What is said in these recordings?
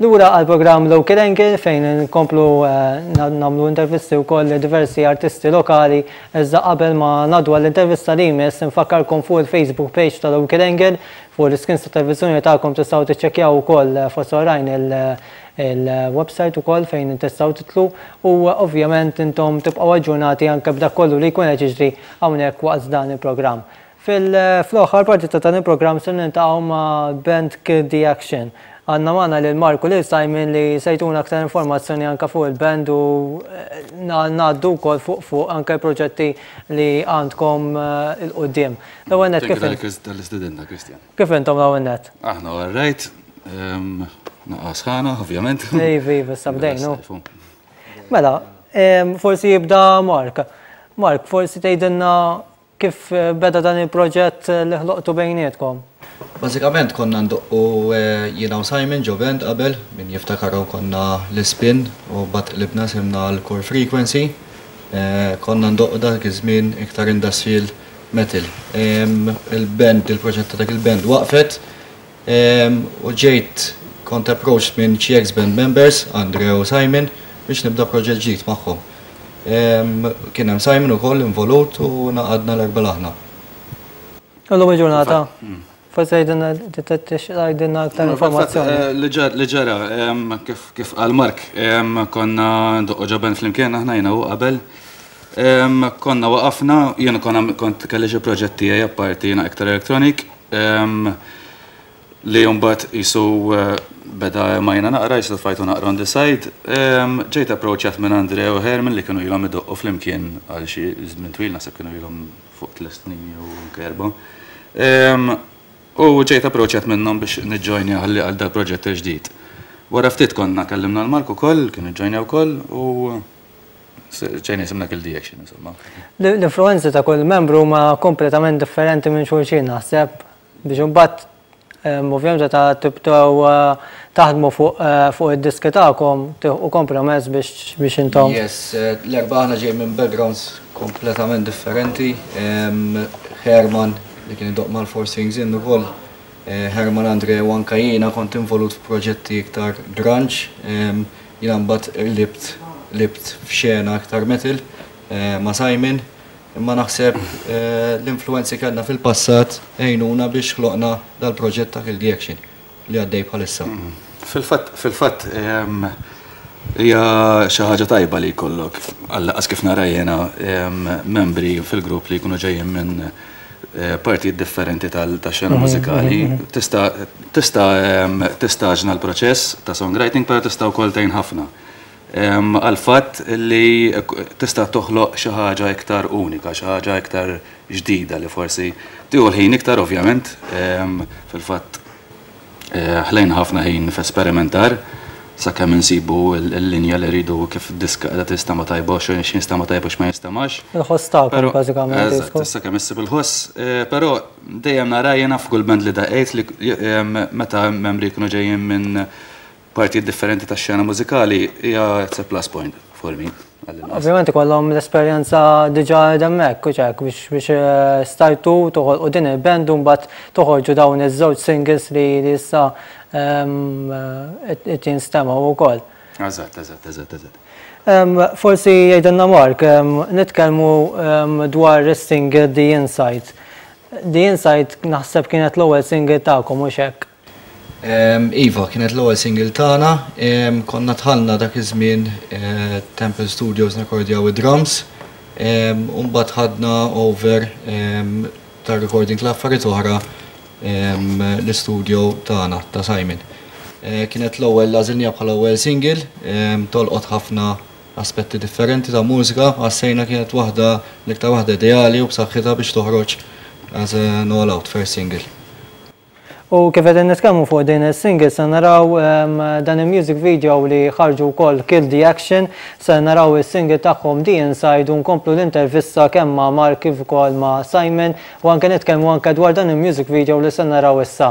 Lura għall-programm Local Angle fejn nkomplu nagħmlu intervisti wkoll lil diversi artisti lokali iżda qabel ma ngħaddu għall-intervista li jmiss infakkarkom fuq il-Facebook page ta' Local Angle fuq l-iscreens tat-televiżjoni tagħkom tistgħu tiċċekkjaw ukoll fost oħrajn il-website ukoll fejn tistgħu tidħlu u ovvjament intom tibqgħu aġġornati anke b'dak kollu li jkun qed jiġri hawnhekk waqt dan il-programm. Fil-aħħar parti ta' dan il-programm se niltaqgħu ma' band Kill the Action. Għandna magħna lil Mark u lil Simon li se jtuna aktar informazzjoni anke fuq il-band u ngħaddu wkoll fuq fuq anke l-proġetti li għandkom 'il quddiem. L-ewwel nett kif. Thank you tal-istedinna, Christian. Kif intom l-ewwel nett? Aħna all right. Naqa' sħana, ovvjament. Iva, iva, issa bdejna. Mela, forsi jibda Mark. Mark, forsi tgħidilna Kif beda dan il-proġett li ħloqtu bejnietkom? Bażikament konna ndoqqu jiena u Simon ġo band qabel, min jiftakarhom konna l-Ispin u mbagħad qlibna isimna għal Core Frequency. Konna ndoqqu dak iż-żmien iktar industrial metal. Il-band, il-proġett ta' dak il-band waqfet U ġejt kont approached minn xi ex band members, Andre u Simon, biex nibda proġett ġdid magħhom. Kien hemm Simon ukoll involut u ngħaqadna l-erbgħa l-aħna. U llum il-ġurnata? Forsi tgħidilna tgħidilna aktar informazzjoni. Li ġara, kif qal Mark, konna ndoqqu ġo band flimkien aħna jiena u qabel. Konna waqafna, jiena kont kelli xi proġett tiegħi apparti jiena iktar electronic. Li mbagħad qisu beda majna naqra, qisu tfajtu naqra on the side. Ġejt approachat minn Andre u Herman li kienu ilhom idoqqu flimkien għal xi żmien twil, naħseb kienu ilhom fuq tliet snin jew anke erbgħa. U ġejt approachat minnhom biex niġġojnja ħalli għal dal-proġett il-ġdid. Wara ftit konna kellimna 'l Mark ukoll, kien iġġojnja wkoll u Ġejna jisimna Kill the Action, insomma. L-influenzi ta' kull membru huma kompletament differenti minn xulxin naħseb biex imbagħad ovvjament meta tibdew taħdmu fuq fuq id-diski tagħkom tilħqu kompromess biex biex intom. Yes, l-erbgħa aħna ġejjin minn backgrounds kompletament differenti. Herman li kien idoqq mal-Four Strings Inn ukoll, Herman Andre u anke jiena kont involut f'proġetti iktar grunge. Jiena mbagħad qlibt qlibt f'xena aktar metal ma' Simon, imma naħseb l-influwenzi kellna fil-passat għinuna biex ħloqna dal-proġett ta' Kill the Action li għaddej bħalissa. Fil-fatt, fil-fatt hija xi ħaġa tajba li jkollok, għall-anqas kif nara jiena, membri fil-grupp li jkunu ġejjin minn partijiet differenti tax-xena mużikali. Tista' tista' tistaġna l-proċess ta' songwriting, però tista' wkoll tgħin ħafna. Għall-fatt li tista' toħloq xi ħaġa iktar unika, xi ħaġa iktar ġdida li forsi tieħu l-ħin iktar ovvjament, fil-fatt Ħlejna ħafna ħin f'esperimentar sakemm insibu l-linja li rridu kif id-diska qiegħda tinstema' tajba u x'jinstema' tajjeb u x'ma jinstemax. Il-ħoss tagħkom bażikament. Eżatt, sakemm issib il-ħoss. Però dejjem nara jiena f'kull band li daqqejt li meta membri jkunu ġejjin minn partijiet differenti tax-xena mużikali hija it's a plus point for me. Ovvjament ikollhom l-esperjenza diġà hemmhekk u hekk biex biex eh, stajtu toħolqu din il-band u mbagħad toħorġu dawn iż-żewġ singles li li issa ehm, eh, qed jinstemgħu wkoll. Eżatt, eżatt, eżatt, eżatt. Ehm, forsi jgħidilna Mark, ehm, nitkellmu dwar is-single The Inside. The Inside naħseb kienet l-ewwel single tagħkom mhux hekk? Iva, kienet l-ewwel single tagħna. Konna dħalna dak iż-żmien Temple Studios nirrekordjaw id-drums. U mbagħad ħadna over tar-recording tal-affarijiet oħra l-istudio tagħna ta' Simon. Kienet l-ewwel għażilniha bħala ewwel single, tolqot ħafna aspetti differenti ta' mużika, ħassejna kienet waħda l-iktar waħda ideali u b'saħħitha biex toħroġ as an all out first single. U kif qegħdin nitkellmu fuq din is-single se naraw dan il-music video li ħarġu wkoll Kill the Action, se naraw is-single tagħhom The Inside u nkomplu l-intervista kemm ma' Mark kif ukoll ma' Simon u anke nitkellmu anke dwar dan il-music video li se naraw issa.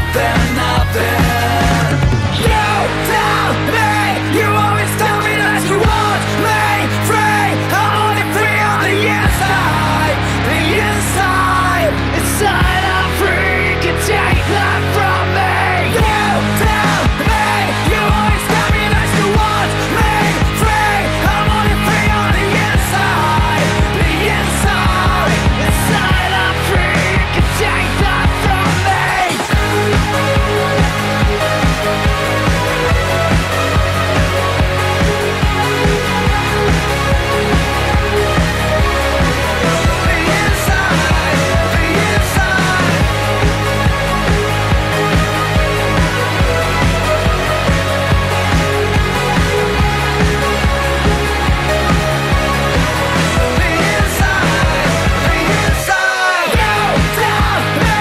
Nothing, nothing. You tell me, you always tell me that you want me free. I'm only free on the inside, the inside. Inside I'm free, you can take that from me. You tell me, you always tell me that you want me free. I'm only free on the inside, the inside. Inside I'm free, you can take that from me. The inside, the inside. The inside, the inside. You tell me,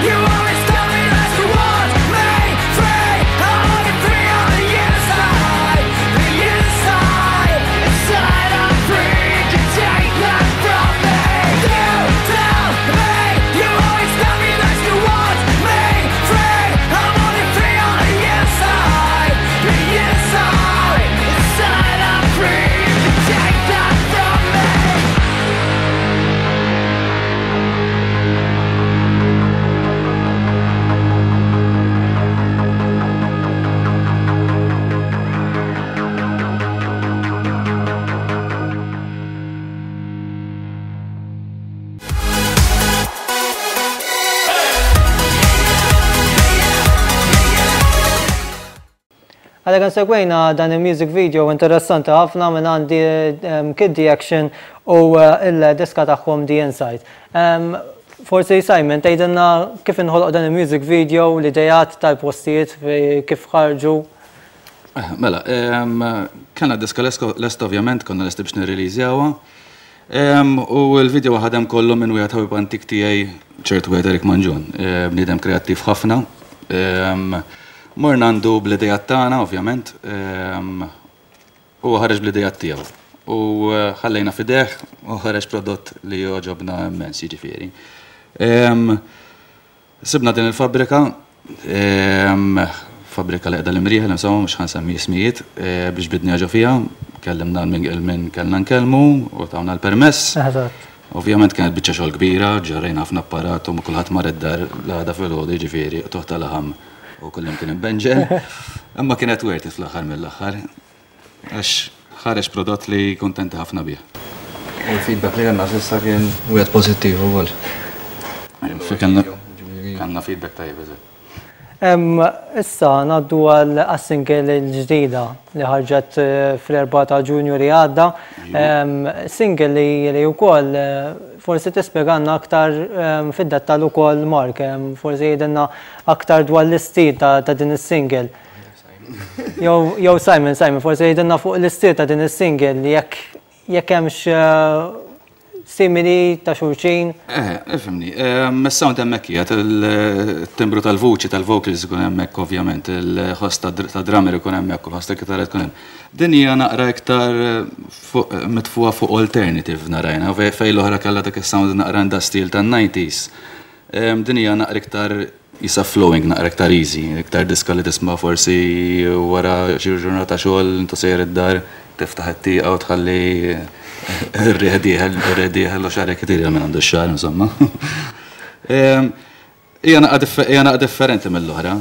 you always tell me that you want me free. I'm only free on the inside, the inside. Inside I'm free, you can take that from me. You tell me, you always tell me that you want me free. I'm only free on the inside, the inside. Inside I'm free, you can take that from me. Għalhekk insegwejna dan il-music video interessanti ħafna minn għandi Kid The Action u il-diska tagħhom The Inside. Forsi Simon, tgħidilna kif inħoloq dan il-music video, l-idejat tal-postijiet kif ħarġu. Mela, kellna diska lesta ovvjament, konna lesti biex nirreleasjawha. U l-video ħadem kollu minn wieħed ħabib antik tiegħi, ċertu wieħed Erik Manġun, bniedem kreattiv ħafna. Morna għandu bl-idejat tagħna, ovvjament, u ħareġ bl-idejat tiegħu. U ħallejna f'idejh u ħareġ prodott li jogħġobna immens, jiġifieri. Sibna din il-fabbrika, fabbrika li qiegħda l-Imrieħel, insomma, mhux ħa nsemmi ismijiet, biex bidni ġo fiha, kellimna min kellna nkellmu u tawna l-permess. Ovvjament kienet biċċa xogħol kbira, ġarrejna ħafna apparat u kulħadd mar id-dar l-għada filgħodu, jiġifieri qtugħ ta' laħam u kullum kien imbenġel. Imma kienet worth it fl-aħħar mill-aħħar, għax ħareġ prodott li kuntenti ħafna bih. U l-feedback li għandna s'issa kien wieħed pożittiv ukoll. Kellna feedback tajjeb, eżatt. Issa ngħaddu għal single l-ġdida li ħarġet fl-4 ta' Ġunju li għadda. Single li wkoll forsi tispjegalna aktar fid-dettall ukoll Mark, forsi jgħidilna aktar dwar l-istil ta' din is-single. Jew Simon, Simon, forsi jgħidilna fuq l-istil ta' din is-single jekk hemmx simili ta' xulxin. Ifhimni, is-sound hemmhekk qiegħed, il-timbru tal-vuċi tal-vocals ikun hemmhekk ovvjament, il-ħoss ta' drummer ikun hemmhekk u l-ħoss ta' kitarra tkun hemm. Din hija naqra iktar mitfuha fuq alternative narajna, fejn l-oħra kellha dak is-sound naqra industrial tan-90s. Din hija naqra iktar jisa flowing, naqra iktar easy, iktar diska li tisma' forsi wara xi ġurnata xogħol intu sejjer id-dar, tiftaħ it-tieqa u tħalli ir-riħ dieħel, ir-riħ dieħel u xagħrek itir minn għandu x-xagħar, insomma. Hija naqra differenti mill-oħra,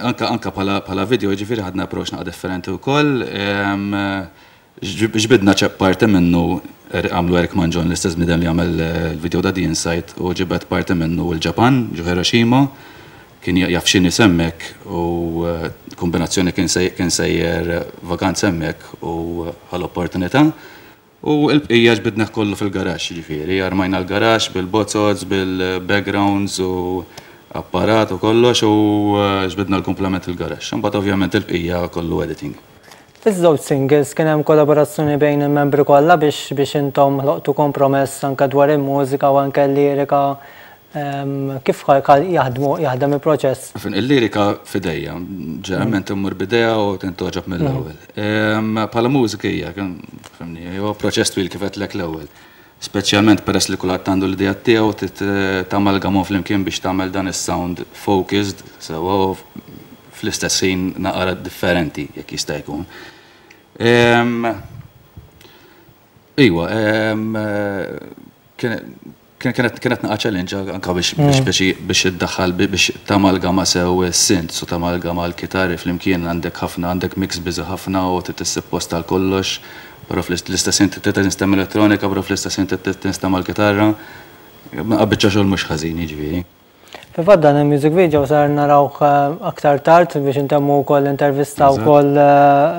anka bħala video, jiġifieri ħadna approach naqra differenti wkoll. Ġbidna ċep parti minnu għamlu Eric Manġon, l-istess bniedem li għamel il-video ta' The Inside, u ġibed parti minnu l-Ġapan, ġo Hiroshima, kien jaf x'inhi hemmhekk u kombinazzjoni kien sejjer vakanza hemmhekk u ħa l-opportunità. U l-bqija ġbidna kollu fil-garaxx, jiġifieri, armajna l-garaxx bil-bozoz, bil-backgrounds u apparat u kollox u ġbidna l-komplement il-garaxx. Imbagħad ovvjament il-bqija kollu editing. Fiż-żewġ singles kien hemm kollaborazzjoni bejn il-membri kollha biex intom ħloqtu kompromess anke dwar il-mużika u anke l-lirika, kif jaħdmu jaħdem il-proċess? Il-lirika f'idejja, ġeneralment immur b'idea u tintgħoġob mill-ewwel. Bħala mużika hija, fhimni, huwa proċess twil kif għedtlek l-ewwel. Speċjalment peress li kulħadd għandu l-ideat tiegħu trid tamalgamhom flimkien biex tagħmel dan is-sound focused sewwa u fl-istess ħin naqra differenti jekk jista' jkun. Iwa, Kienet kienet naqa' challenge anka biex biex biex biex iddaħħal biex tamalgama sew is-synths u tamalgama l-kitarri flimkien għandek ħafna għandek mix busy ħafna u trid issib post għal kollox, però fl-istess ħin trid tinstema' elettronika però fl-istess ħin trid tinstema' l-kitarra. Naqa' biċċa xogħol mhux ħażin jiġifieri. Fil-fatt dan il-music video sar narawh aktar tard biex intemmu wkoll l-intervista wkoll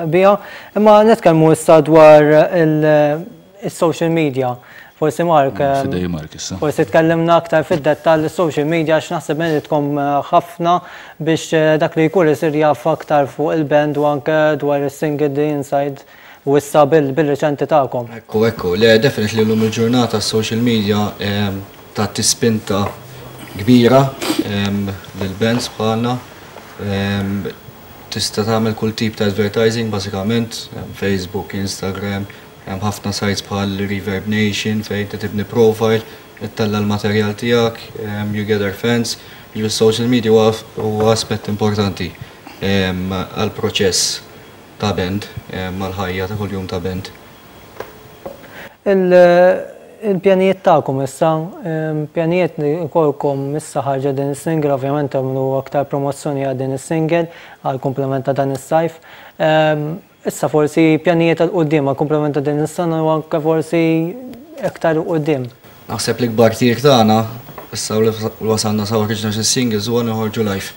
biha. Imma nitkellmu issa dwar il-social media. Forsi Mark. Fidej Mark issa. Forsi tkellimna aktar fid-dettall is-social media għax naħseb ngħidilkom ħafna biex dak li jkun isir jaf aktar fuq il-band u anke dwar is-single The Inside u issa bil-riċenti tagħkom. Ekku, ekku. Le, definitely llum il-ġurnata s-social media tagħti spinta kbira lill-bands bħalna. Tista' tagħmel kull tip ta' advertising bażikament, Facebook, Instagram, hemm ħafna sites bħal Reverb Nation fejn inti tibni profile, ittella' l-materjal tiegħek, you gather fans. Jiġifieri s-social media huwa aspett importanti għall-proċess ta' band, mal-ħajja ta' kuljum ta' band. Il-pjanijiet tagħkom issa, pjanijiet li jkollkom issa ħarġet din is-single, ovvjament tagħmlu aktar promozzjoni għal din is-single għal kumplament ta' dan is-sajf. Issa forsi pjanijiet għal quddiem għal kumplament ta' din is-sena u anke forsi iktar 'il quddiem. Naħseb l-ikbar tir tagħna issa li wasalna sa ħriġna xi singles huwa noħorġu live.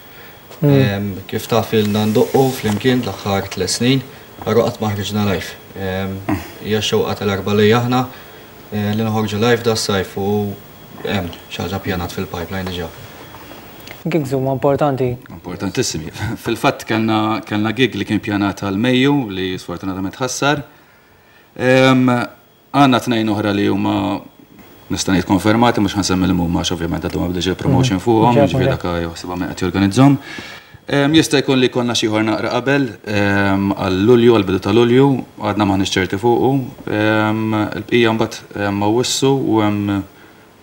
Kif taf ilna ndoqqu flimkien l-aħħar tlett snin, però qatt ma ħriġna live. Hija x-xewqa tal-erbgħa li aħna li noħorġu live das-sajf u hemm xi ħaġa ppjanat fil-pipeline diġà. Gigs huma importanti. Importantissimi. Fil-fatt kellna kellna gig li kien pjanat għal Mejju li sfortunatament tħassar. Għandna tnejn oħra li huma nista' ngħid konfermati, mhux ħansemmi li huma għax ovvjament għadhom ma bdex il-promotion fuqhom, jiġifieri dak jaħsibha min qed jorganizzhom. Jista' jkun li jkollna xi ieħor naqra qabel għal Lulju, għall bidu ta' Lulju, għadna m'aħniex ċerti fuqu. Il-bqija mbagħad hemm Awwissu u hemm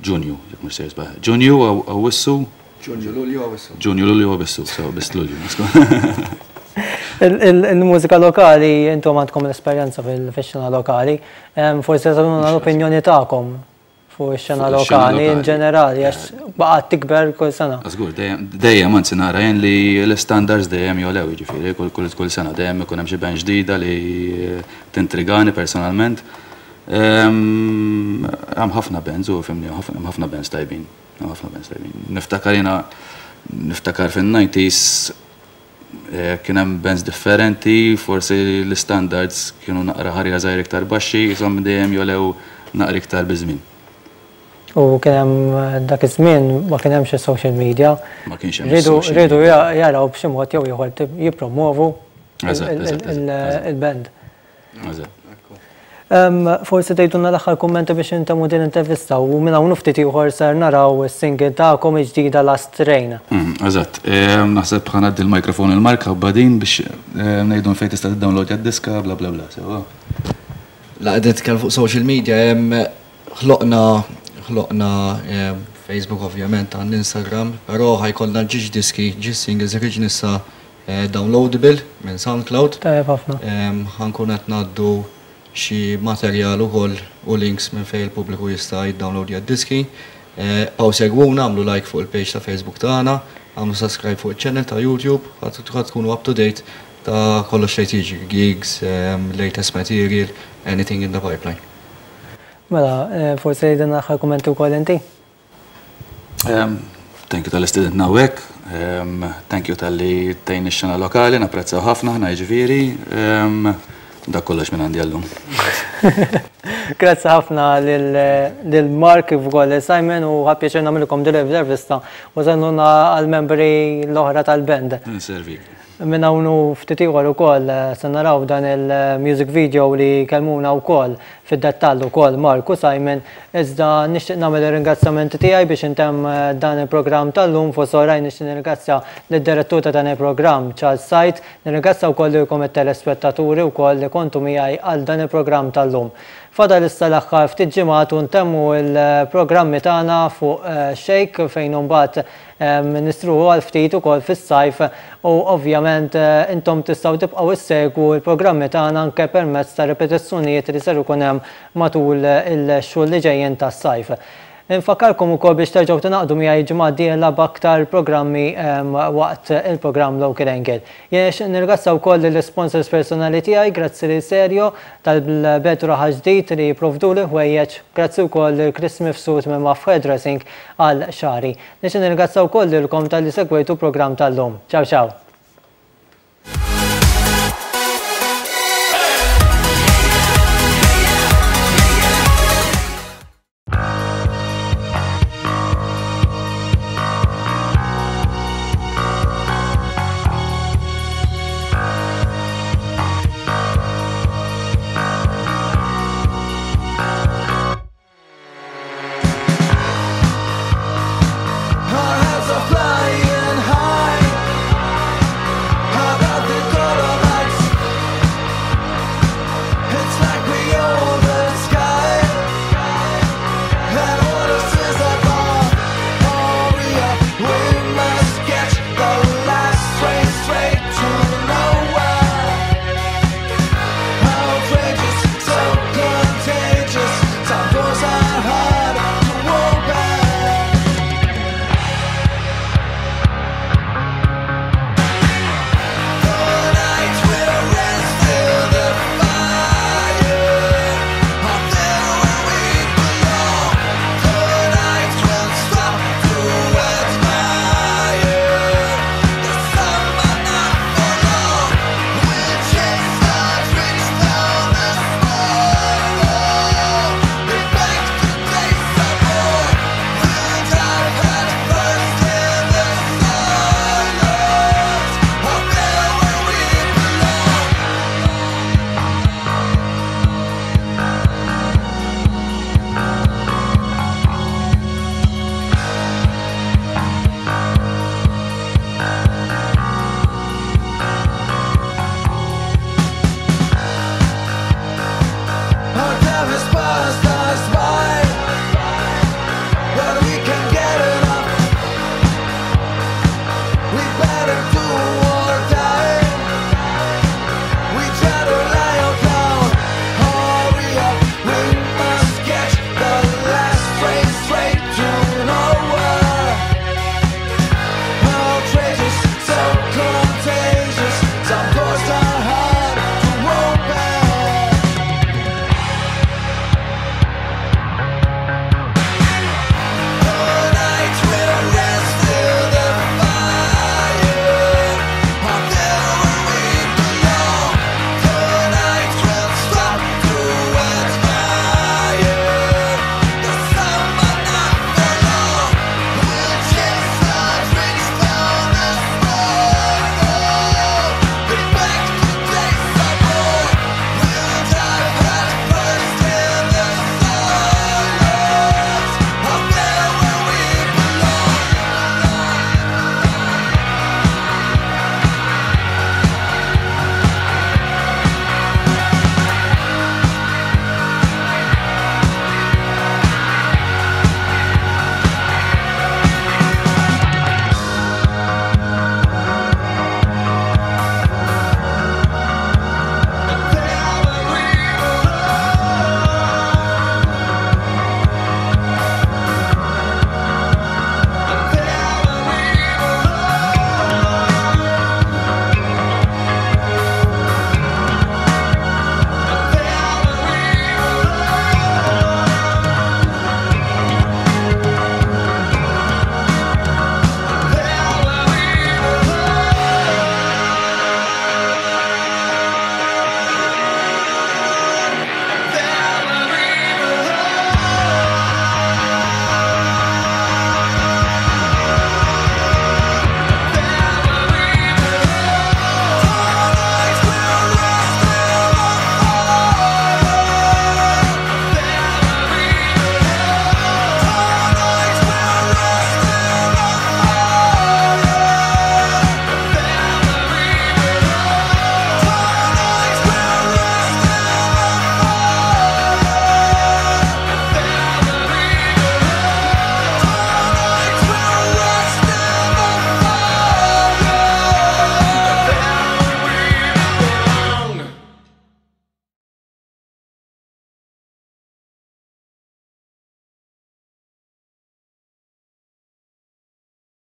Ġunju, jekk mhux sejjer żball. Ġunju, Awwissu. Ġunju, Lulju, Awwissu. Ġunju, Lulju, Awwissu, so biss Lulju. Il-mużika lokali, intom għandkom l-esperjenza fil-xena lokali, forsi tagħtuna l-opinjoni tagħkom fuq ix-xena lokali in ġenerali, għax baqgħet tikber kull sena. Żgur, dejjem anzi nara jien li l-istandards dejjem jogħlew, jiġifieri kull sena dejjem ikun hemm xi band ġdida li tintrigani personalment. Hemm ħafna bands u fimni, hemm ħafna bands tajbin. Hemm ħafna bands tajbin. Niftakar jiena niftakar fin-90s eh, kien hemm bands differenti, forsi l-standards kienu naqra ħarja żgħir iktar baxxi, jisom dejjem jolew naqra iktar biż-żmien. U kien hemm eh, dak iż-żmien ma kien hemmx is-social media. Ma kienx hemm is-social media. Riedu jaraw b'xi mod jew ieħor jippromovu il-band. Forsi tgħidulna l-aħħar kummenti biex intemmu din l-intervista u minn hawn u ftit ieħor ser naraw is-single tagħkom il-ġdida Last Train. Eżatt. Naħseb ħa ngħaddi l-microphone lil Mark ħabba din biex ngħidu fejn tista' tiddownloadja d-diska bla bla bla sewwa. La qegħdin nitkellmu fuq social media hemm ħloqna ħloqna Facebook ovvjament għand Instagram, però ħa jkollna ġiex diski, ġiex singles ħriġna issa Downloadable minn SoundCloud. Tajjeb ħafna. Ħa nkun qed ngħaddu xi materjal ukoll u links minn fejn il-pubbliku jista' jiddownloadja d-diski. Bqgħu segwuna, agħmlu like fuq il-page ta' Facebook tagħna, agħmlu subscribe fuq iċ-channel ta' YouTube, ħa tkunu up to date ta' kollox li qed jiġri, gigs, latest material, anything in the pipeline. Mela, forsi tgħidilna l-aħħar kummenti wkoll inti? Thank you talli stedintna hawnhekk, thank you talli tgħin ix-xena lokali, napprezzaw ħafna aħna jiġifieri. Dak kollox minn għandi għallum. Grazzi ħafna lil Mark kif ukoll lil Simon u ħa pjaċir nagħmilkom din l-intervista u sennuna għall-membri l-oħra tal-band. Nservik. Minn hawn u ftit ieħor ukoll se naraw dan il-music video li kellmuna wkoll fid-dettall ukoll Mark u Simon, iżda nixtieq nagħmel ir-ringrazzjamenti tiegħi biex intemm dan il-programm tal-lum. Fost oħrajn nixtieq nirringrazzja lid-direttur ta' dan il-programm Charles Said, nirringrazzja wkoll lilkom it-telespettaturi wkoll li kontu miegħi għal dan il-programm tal-lum. Fadal issa l-aħħar ftit ġimgħat u ntemmu l-programmi tagħna fuq Xejk fejn imbagħad nistruħu għal ftit ukoll fis-sajf u ovvjament intom tistgħu tibqgħu issegwu l-programmi tagħna anke permezz ta' ripetizzjonijiet li ser ikun hemm matul il-xhur li ġejjin tas-sajf. Infakkarkom ukoll biex terġgħu tingħaqdu miegħi l-ġimgħa d-dieħla b'aktar programmi waqt il-programm Local Angle. Jien nixtieq nirringrazzja wkoll lill-isponsors personali tiegħi, grazzi lil Serio tal-Belt u Raħal Ġdid li jipprovduli ħwejjeġ, grazzi wkoll lil Chris Mifsud minn Maf Hairdressing għal xagħri. Nixtieq nirringrazzja wkoll lilkom talli segwejtu l-programm tal-lum. Ciao ciao!